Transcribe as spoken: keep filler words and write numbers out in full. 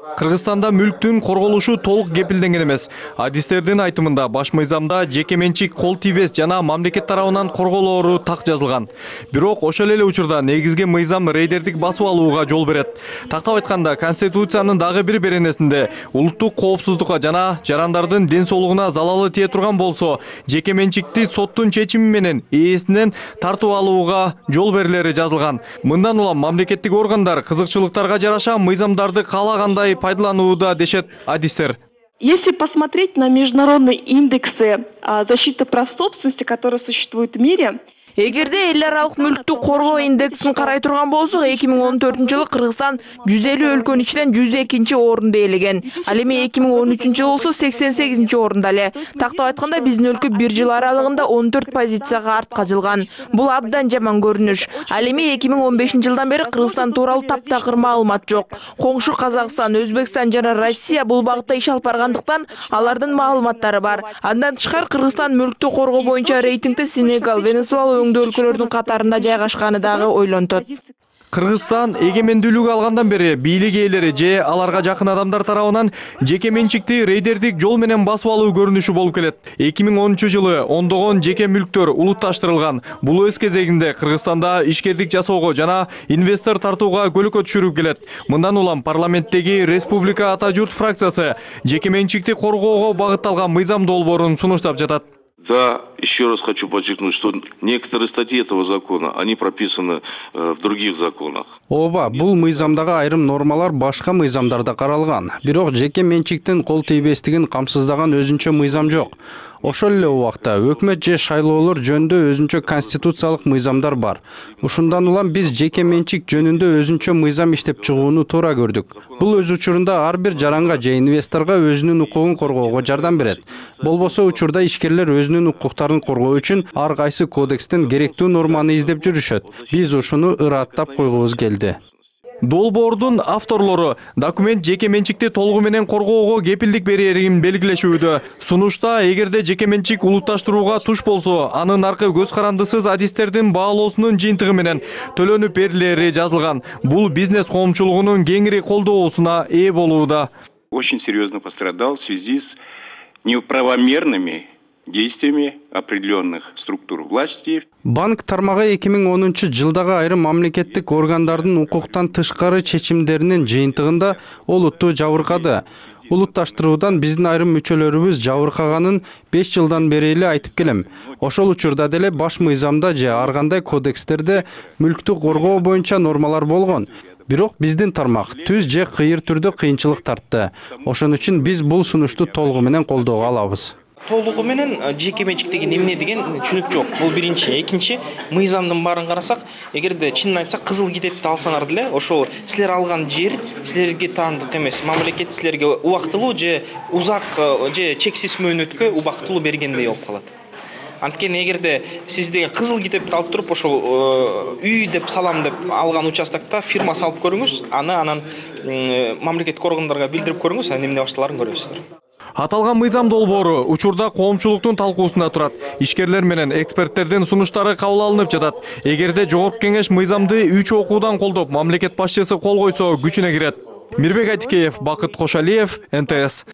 Кыргызстанда мүлктүн корголушу толук кепилденген эмес. Адистердин айтымында баш мыйзамда жеке менчик кол тийбес жана мамлекет тарабынан корголоору так жазылган. Бирок ошол эле учурда негизги мыйзам рейдердик басып алууга жол берет. Тактап айтканда, Конституциянын дагы бир беренесинде улуттук коопсуздукка жана жарандардын ден соолугуна залалы тие турган болсо, жеке менчикти соттун чечими менен ээсинен тартып алууга жол берилери жазылган. Мындан улам мамлекеттик органдар кызыкчылыктарга жараша мыйзамдарды каалагандай пайдаланууда дешет адистер. Если посмотреть на международные индексы защиты прав собственности, которые существуют в мире, эгерде эл аралык мүлктү коргоо индексин карай турган болсок, эки миң он төртүнчү жылы Кыргызстан жүз элүү өлкөнүн ичинен жүз экинчи орунду ээлеген. Ал эми эки миң он үчүнчү жылы болсо сексен сегизинчи орунда эле. Тактап айтканда, биздин өлкө бир жыл аралыгында он төрт позицияга артка жылган. Бул абдан жаман көрүнүш. Ал эми эки миң он бешинчи жылдан бери Кыргызстан тууралуу таптакыр маалымат жок. Коңшу Казакстан, Өзбекстан жана Россия бул багытта иш алып баргандыктан алардын маалыматтары бар. Андан тышкары Кыргызстан мүлктү коргоо боюнча рейтингде Сенегал, Венесуэла өңдүү өлкөлөрдүн катарында жайгашканы дагы ойлонтот. Кыргызстан эгемендүүлүк алгандан бери бийлик ээлери же аларга жакын адамдар тарабынан жеке менчикти рейдердик жол менен басып алуу көрүнүшү болуп келет. эки миң онунчу жылы ондогон жеке мүлктөр улутташтырылган. Бул өз кезегинде Кыргызстанда ишкердик жасоого жана инвестор тартууга көлөкө түшүрүп келет. Мындан улам парламенттеги Республика Ата журт фракциясы жеке менчикти коргоого багытталган мыйзам долбоорун сунуштап жатат. Да, еще раз хочу подчеркнуть, что некоторые статьи этого закона, они прописаны э, в других законах. Ооба, бул мыйзамдагы айрым нормалар башка мыйзамдарда каралган. Бирок жеке менчиктин кол тийбестигин камсыздаган өзүнчө мыйзам жок. Ошол эле убакта өкмөт же шайлоолор жөнүндө өзүнчө конституциялык мыйзамдар бар. Ушундан улам биз жеке менчик жөнүндө өзүнчө мыйзам иштеп чыгууну туура көрдүк. Бул өз учурунда ар бир жаранга же инвесторго өзүнүн укугун коргоого жардам берет. Болбосо учурда ишкерлер өзүнүн укуктарын коргоо үчүн ар кайсы кодекстен керектүү норманы издеп жүрүшөт. Биз ушуну ыраттап койгубуз келди. Долбоордун авторлору документ жеке менчикти толугу менен коргоого кепилдик берерин белгилешүүдө. Сунушта эгерде жеке менчик улутташтырууга туш болсо, анын аркы көз карандысыз адистердин баалоосунун жыйынтыгы менен төлөнүп берилери жазылган. Бул бизнес коомчулугунун кеңири колдоосуна ээ болууда. Очень серьезно пострадал в связи с неправомерными действиями определенных структур власти. Банк тармагы эки миң онунчу жылдагы айрым мамлекеттик органдардын укуктан тышкары чечимдеринин жыйынтыгында олутту жабыркады. Улутташтыруудан биздин айрым мүчөлөрүбүз жабыркаганын беш жылдан бери эле айтып келем. Ошол учурда деле баш мыйзамда же ар кандай кодекстерде мүлктү коргоо боюнча нормалар болгон. Бирок биздин тармак түз же кыйыр түрдө кыйынчылык тартты. Ошон үчүн биз бул сунушту толугу менен колдоого алабыз. Толугу менен жеке менчик деген эмне деген түшүнүк жок. Бул биринчи. Экинчи, мыйзамдын баарын карасак, эгерде чынын айтсак, кызыл китепти алсаңар деле, ошол силер алган жер силерге таандык эмес. Мамлекет силерге убактылуу же узак же чексиз мөөнөткө убактылуу бергендей болуп калат. Анткени эгерде сиз деген кызыл китепти алып туруп ошол үй деп салам деп алган участокто фирма салып көрүңүз, аны анан мамлекеттик органдарга билдирип көрүңүз, анан эмне башталарын көрөсүздөр. Аталган мыйзам долбоору учурда коомчулуктун талкуусунда турат. Ишкерлер менен эксперттердин сунуштары кабыл алынып жатат. Эгерде жогорку кеңеш мыйзамды үч окуудан колдоп, мамлекет башчысы кол койсо күчүнө кирет. Мирбек Айтикеев, Бакыт Кошалиев, эн тэ эс.